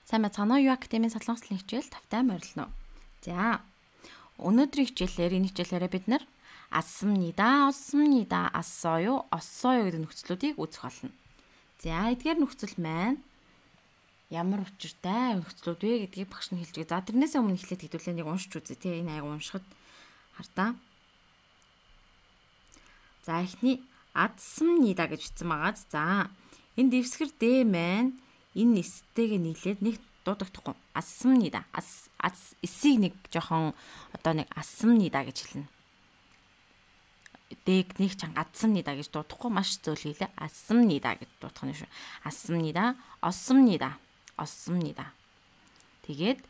Сайн байцгаана уу? Юу академийн солонгослын хичээл тавтай морилно. За. Өнөөдрийн хичээлээр энэ хичээлээрээ бид нар асмнида, осмнида, ассоё гэдэг нөхцлүүдийг үзэх болно. За, эдгээр нөхцөл маань ямар учиртай нөхцлүүд вэ гэдгийг багш нь хэлж байгаа. За, тэрнээс өмнө эхлээд хэдүүлээ нэг уншиж үзье те. Энэ аяг уншихад хардаа. За, эхний асмнида гэж бичсэн байгаа. За, энэ дэвсгэр Д маань энэ эстэйгээ нийлээд нэг дуудагдахгүй. Асмнида. Эсийг нэг жоохон одоо нэг асмнида гэж хэлнэ. Дэг нэг чанга асмнида гэж дуудахгүй маш зөөлгийлээ. Асмнида гэж дуудах нь шүү. Асмнида, осмнида. Тэгээд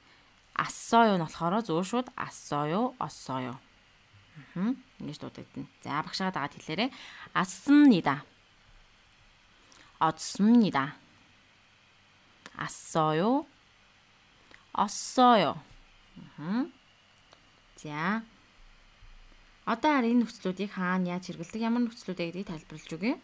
ассоё нь болохоор зөв шууд ассоё, оссоё. Ингэж дуудагдана. За багшаа дагаад хэлээрэй. Асмнида. осмнида. 아써요, ос어요. За. Одоо энэ нөхцлүүдийг хаана яаж хэрэглэдэг, ямар нөхцлүүд вэ гэдгийг тайлбарлаж өгье.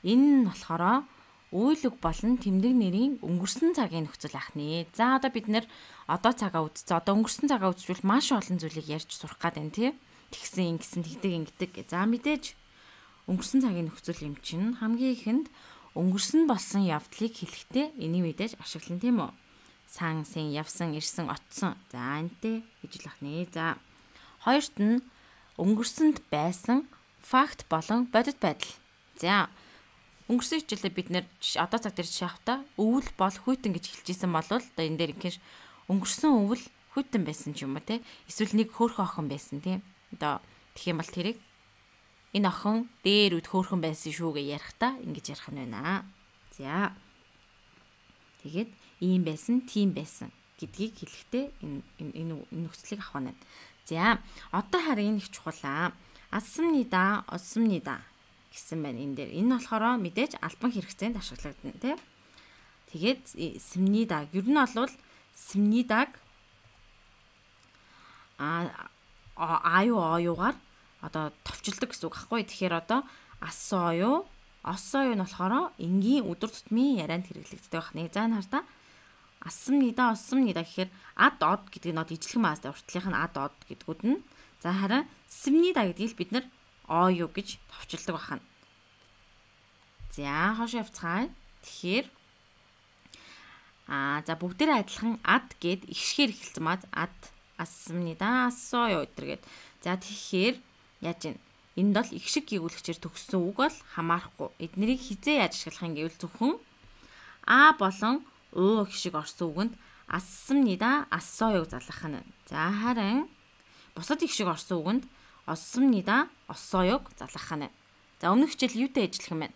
Энэ нь болохоор үйл үг болон тэмдэг нэрийн өнгөрсөн цагийн нөхцөл ахны. За одоо бид нэр одоо цагаа үзсэн. Одоо өнгөрсөн цагаа үзвэл маш олон зүйлийг ярьж сурах гэдэг нь тий. Тэгсэн, ингэсэн, тэгдэг. За мэдээж өнгөрсөн цагийн нөхцөл юм чинь хамгийн ихэнд өнгөрсөн болсон явдлыг хэлэхдээ энийг мэдээж ашиглана тийм үү? Сан, син, явсан, ирсэн, очсон. За энтэй гэж л ахнаа. За хоёрт нь өнгөрсөнд байсан факт болон бодит байдал. За өнгөрсөн хичээлээ бид нэр одоо цаг дээр жишээвтаа өвөл бол хүйтэн гэж хэлжсэн бол одоо энэ дээр ингээш өнгөрсөн өвөл хүйтэн байсан ч юм уу те. Эсвэл нэг хөөрхөн охин байсан тийм. Одоо тэгэх юм бол тэрийг энэ охин дээр үд хөөрхөн байсан шүү гэж ярихдаа ингэж ярих нь байна. За. Тэгээд ийм байсан, тийм байсан гэдгийг хэлэхдээ энэ нөхцөлийг авах нь. За, одоо харин энэ их чухал. Асмнида, осмнида гэсэн байна энэ дээр. Энэ болохоор мэдээж албан хэрэгцээнд ашиглагдана, тийм. Тэгээд симнида ер нь бол симнидаг оюугаар одоо товчлдог гэсэн үг байхгүй. Тэгэхээр одоо ассоё нь болохоор энгийн өдөр тутмын ярианд хэрэглэгддэг байна. За энэ хардаа асмнида, осмнида гэхээр ад од гэдэг нь ижлэх маастай уртлынх нь ад од гэдгүүд нь. За харин симнида гэдгийг бид нар оюу гэж товчилдог байна. За хошоо явцгаая. Тэгэхээр за бүгдээрээ адилхан ад гэд ихшгээр эхэлсэн маа ад асмнида, ассоё гэдэргээд. За тэгэхээр яаж юм? Энд бол их шиг гүйгүүлэгчээр төгссөн үг бол хамаарахгүй. Эднэрийг хизээ яаж ашиглах юм гэвэл зөвхөн а болон уу их шиг орсон үгэнд асмнида, ассоёг залгах нь. За харин бусад их шиг орсон үгэнд осмнида, оссоёг залгах нь. За өмнөх хичээл юутай ажиллах юм бэ?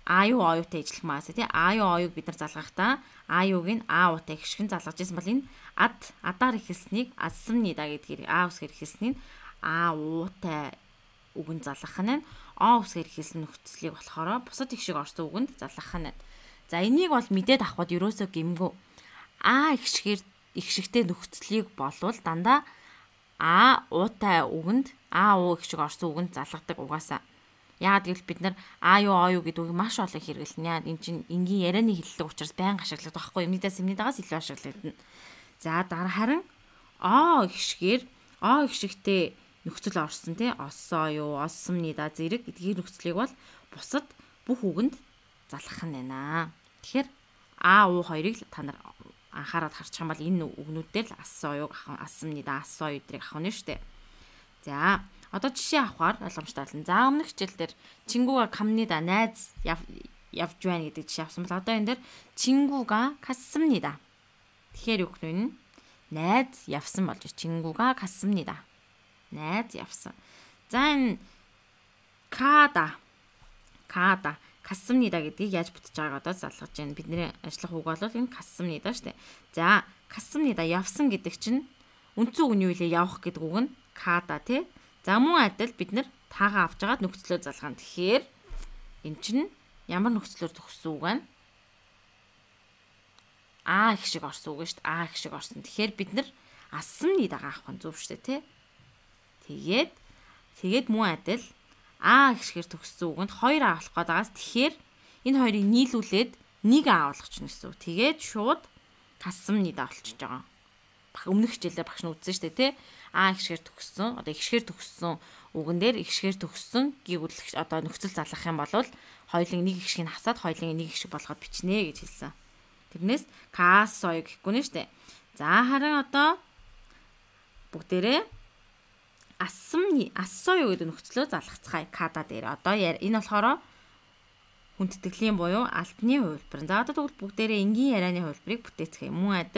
Аюу оюутай ажиллах маас тий. Аюу оюуг бид нар залгахдаа аюуг нь а уутай их шиг залгаж ирсэн бол энэ адаар эхэлснийг асмнида гэдгээр а усгээр эхэлснийг а уутай үгэнд залгах нь. О усгээр эхэлсэн нөхцөлийг болохоор бусад их шиг орсон үгэнд залгах нь. За энийг бол мэдээд авахд ерөөсөө гэмгүй. А их шигтэй нөхцөлийг болвол дандаа а уутай үгэнд а уу их шиг орсон үгэнд залгадаг угаасаа. Яагаад гэвэл бид нар а юу оюу гэдэг үгийг маш олон хэрэглэнэ. Энэ чинь энгийн ярианы хэллэг учраас байнга ашигладаг байхгүй юм. Нийтээс симнидагаас илүү ашиглагдана. За дараа харин о их шигтэй нөхцөл орсон тий. Оссоё, осмнида зэрэг эдгээр нөхцөлийг бол бусад бүх үгэнд залгах нь байна. Тэгэхээр а уу хоёрыг та нар анхаарал харчих юм бол энэ үгнүүдээр л ассоёг авах, асмнида, ассоё эдрийг авах нь шүү дээ. За одоо жишээ авахаар ойлгомжтой болно. За өмнөх хичээл дээр чингуга камнида найз явж байна гэдэг жишээ авсан бол одоо энэ дээр чингуга касмнида. Тэгэхээр юу гэх вэ? Найз явсан болж чингуга касмнида. Найз явсан. За энэ када касмнида гэдгийг яаж бүтэж байгааг одоо залгаж байна. Бидний ажиллах үг бол энэ касмнида шүү дээ. За касмнида явсан гэдэг чинь үндсэн үг нь юу вэ? Явах гэдэг үг нь када тий. За мөн адил бид нар таагаа авч агаад нөхцлөө залгаана. Тэгэхээр эн чинь ямар нөхцлөөр төгссөн үг вэ? А их шиг орсон үг шүү дээ. А их шиг орсон. Тэгэхээр бид нар асмнидагаа авах нь зөв шүү дээ тий. Тэгээд мөн адил А гişгээр төгссөн үгэнд 2 авах гэдагаас тэгэхээр энэ хоёрыг нийлүүлээд нэг а болгочихно гэсэн үг. Тэгээд шууд касмнида болчихж байгаа. Өмнөх хичээлээр багш нь үзсэн шүү дээ, тий? А ихшгээр төгссөн. Одоо ихшгээр төгссөн үгэн дээр ихшгээр төгссөн гүйгүүлэх одоо нөхцөл залгах юм бол хоёулын нэг ихшгийг хасаад хоёулын нэг ихшиг болгоод бичнэ гэж хэлсэн. Тэрнээс касой гэхгүй нэ шүү дээ. За харин одоо бүгдээрээ ассоё гэдэг нөхцлөө залгацгаая када дээр. Одоо энэ болохоор хүндэтгэлийн буюу альбаны хувилбар. За одоо тэгвэл бүгдээрээ энгийн ярианы хувилбарыг бүтээцгээе. Мөн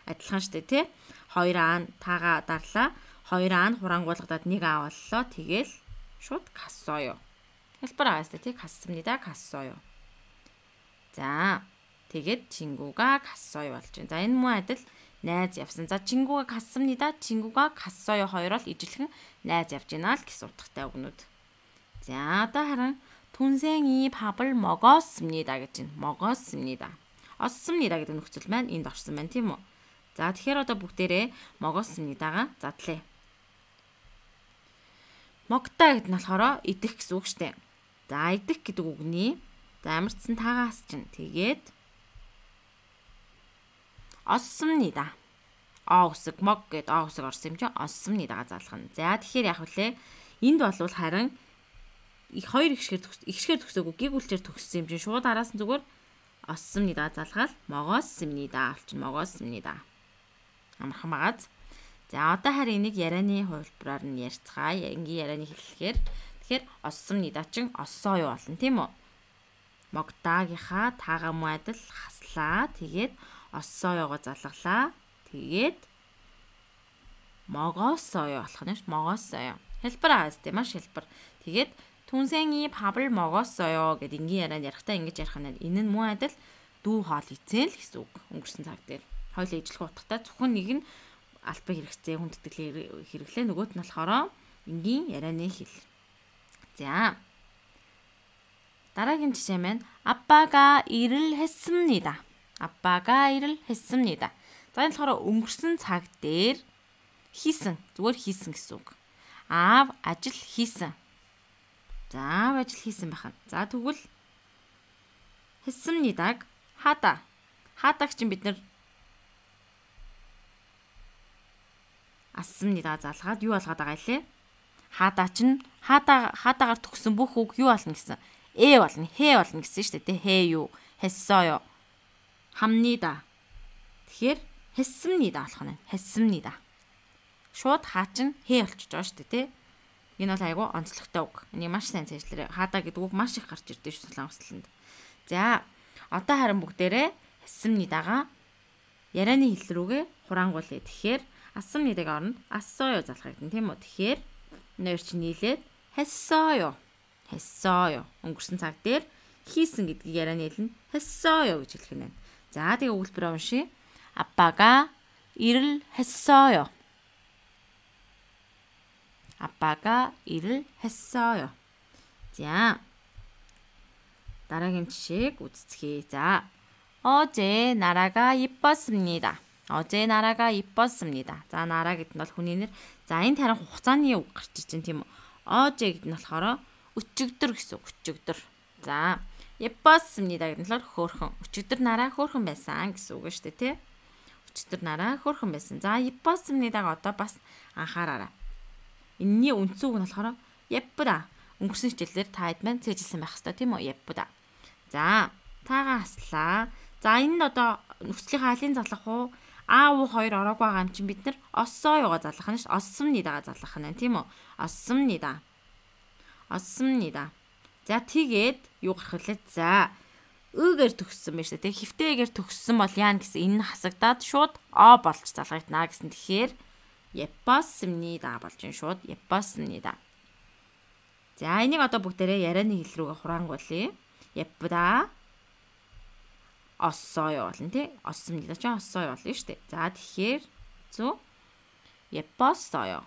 адилхан шүү дээ, тий? 2 аа таага дарлаа. 2 аа хурангуулгадад 1 аа боллоо. Тэгэл шууд кассоё. Хэлбэр агаастай тий? Кассамнида кассоё. За тэгээд чингуга кассоё болж байна. За энэ мөн адил найз явсан. За чингуга кассамнида чингуга кассоё хоёроо л ижилхэн найз явж гинэ л гэсэн утгатай үгнүүд. За одоо харин түнсэн이 밥을 먹었습니다 гэж байна. 먹었습니다. ос습니다 гэдэг нөхцөл маань энд орсон байна тийм үү? За тэгэхээр одоо бүгдээрээ 먹었습니다가 задлаа. 먹다 гэдэг нь болохоор идэх гэсэн үг шүү дээ. За идэх гэдэг үгний за амарцсан таагаас чинь тэгээд ос습니다. усэг мог гэдэг усэг орсон юм чинь ос습니다가 задлах нь. За тэгэхээр яг үлээ энд болвол харин хоёр ихшгээр төгсөөгүй гэгүүлчээр төгссөн юм чинь шууд араас нь зүгээр ос습니다 залгаал 먹었습니다 болчих 먹었습니다. Амархан багаз. За одоо харин энийг ярианы хувилбараар нь ярьцгаая. Энгийн ярианы хэллэгээр тэгэхээр ос습니다 чин оссоо юу болно тийм үү? Могдаагийнхаа таага муу адил хаслаа. Тэгээд оссооёго залгалаа. Тэгээд 먹었어요 болох нь ш. 먹었어요. хэлбэр аастай маш хэлбэр. Тэгээд түнсэн이 밥을 먹었어요 гэдэг энгийн ярианд ярихтаа ингэж ярих нь энэ нь муу адил дүү хоол эзэн л гэсэн үг. Өнгөрсөн цаг дээр хоёул ижлэх утгатай зөвхөн нэг нь албан хэрэгцээ хүндэтгэл хэрэглээ нөгөөт нь болохоор энгийн ярианы хэл. За дараагийн жишээ маань 아빠가 일을 했습니다. 아빠가 일을 했습니다. За энэ болохоор өнгөрсөн цаг дээр хийсэн зүгээр хийсэн гэсэн үг. 아ав ажил хийсэн. За аав ажил хийсэн байна. За тэгвэл 했습니다г 하다. 하다г чинь бид нэр ас습니다 залгаад юу болгоод байгаа илээ? 하다 чинь 하다гаар төгсөн бүх үг юу болно гэсэн? болно, 해 болно гэсэн шүү дээ. 해요, 했어요, 합니다. Тэгэхээр 했습니다 болох нь. 했습니다. шууд хаачин 해 болчихж байгаа шүү дээ, тий? Энэ бол айгүй онцлогтой үг. Энийг маш сайн цаашлаарай. 하다 гэдэг үг маш их гарч ирдэ шүү солонгослонд. За, одоо харин бүгдээрээ 했습니다가 ярианы хэл рүүгээ хураангуулъя. Тэгэхээр ас습니다가 оронд ассоё залах гэдэг тийм үү? Тэгэхээр нэр чинь нийлээд 했어요. 했어요. өнгөрсөн цаг дээр хийсэн гэдгийг ярианы хэл нь 했어요 гэж хэлэх нь байна. За, тэгээ өгүүлбэрээ уншия. 아빠가 일을 했어요. 아빠가 일을 했어요. 자, дараагийн жишээг үзцгээе. 자, 어제 나라가 이뻤습니다. 어제 나라가 이뻤습니다. 자, 나라 гэдэг нь бол хүний нэр. За, энэ харин хугацааны үг гарч иж байна тийм үү? 어제 гэдэг нь болохоор өчигдөр гэсэн үг. өчигдөр. За, 예뻤습니다 гэдэг нь болохоор хөөрхөн. өчигдөр нараа хөөрхөн байсан гэсэн үг шүү дээ, тий? өчигдөр нараа хөөрхөн байсан. За, 예뻤습니다가 одоо бас анхаараарай. Энэний үндсэн үг нь болохоор 예쁘다. өнгөрсөн хичээлээр та хэд маань цээжилсэн байх хэрэгтэй тийм үү? 예쁘다. За, таагаа хаслаа. За, энэ нь одоо нөхцөлийн хаалын залах уу? А уу хоёр ороогүй байгаа юм чинь бид нар оссоёго залах нь ш. ос습니다가 залах нь тийм үү? ос습니다. ос습니다. За, тэгээд юу гарах вэ? За, ыгээр төгссөн байж тээ. Хифтэйгээр төгссөн бол яа гэсэн энэ хасагдаад шууд о болж залгагдана гэсэн. Тэгэхээр 예뻤습니다 болж энэ шууд 예뻤습니다. За, энийг одоо бүгдээрээ ярианы хэл рүүгээ хураангуулъя. 예쁘다. 어써요 болно тий. 어습니다. ч 어써요 болно шүү дээ. За, тэгэхээр зөв 예뻤어요.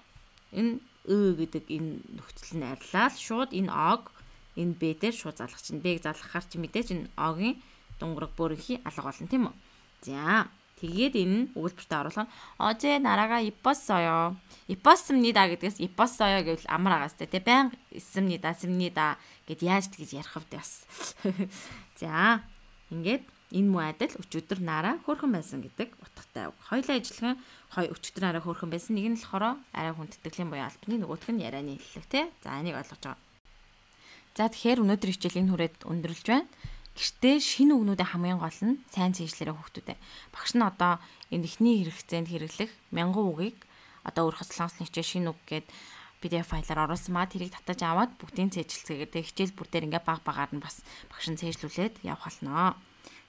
Энэ гэдэг энэ нөхцөл нь арилаад шууд энэ ог энэ б дээр шууд залгах чинь. Б-г залгахаар чи мэдээж энэ огийн дунгар бөөрийнхи алга болно тийм үү? За, тэгээд энэ өгүүлбэртээ оруулах нь 어제 나라가 이뻤어요. 이뻤습니다 гэдгээс 이뻤어요 гэвэл амар агаастай тий. Баян 있습니다, 씁니다 гэд яаж тэгж ярих вэ бас. За, ингээд Энэ муу адил өчигдөр нараа хөөрхөн байсан гэдэг утгатай үг. Хоёулаа ижилхэн өчигдөр нараа хөөрхөн байсан. Нэг нь болохоор арай хүндэтгэлийн буюу албаны, нөгөөх нь ярианы хэллэг тий. За энийг ойлгож байгаа. За тэгэхээр өнөөдөр хичээлийн хүрээд өндөрлж байна. Гэртээ шинэ үгнүүдийн хамгийн гол нь сайн цээжлэрээ хүүхдүүдээ. Багш нь одоо энэ эхний хэрэгцээнд хэрэглэх 1000 үгийг одоо өөрөөр солонгосны хичээл шинэ үг гээд PDF файлаар оруулсан маа тэрийг татаж аваад бүгдийн цээжилцгээгээд хичээл бүр дээр ингээ баг багаар нь бас багш нь цээжлүүлээд явах болно.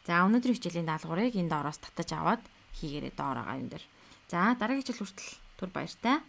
За өнөөдрийн хичээлийн даалгаврыг энэ доороос татаж аваад хийгээрэй доороо энэ дээр. За дараагийн хичээл хүртэл түр баяртай.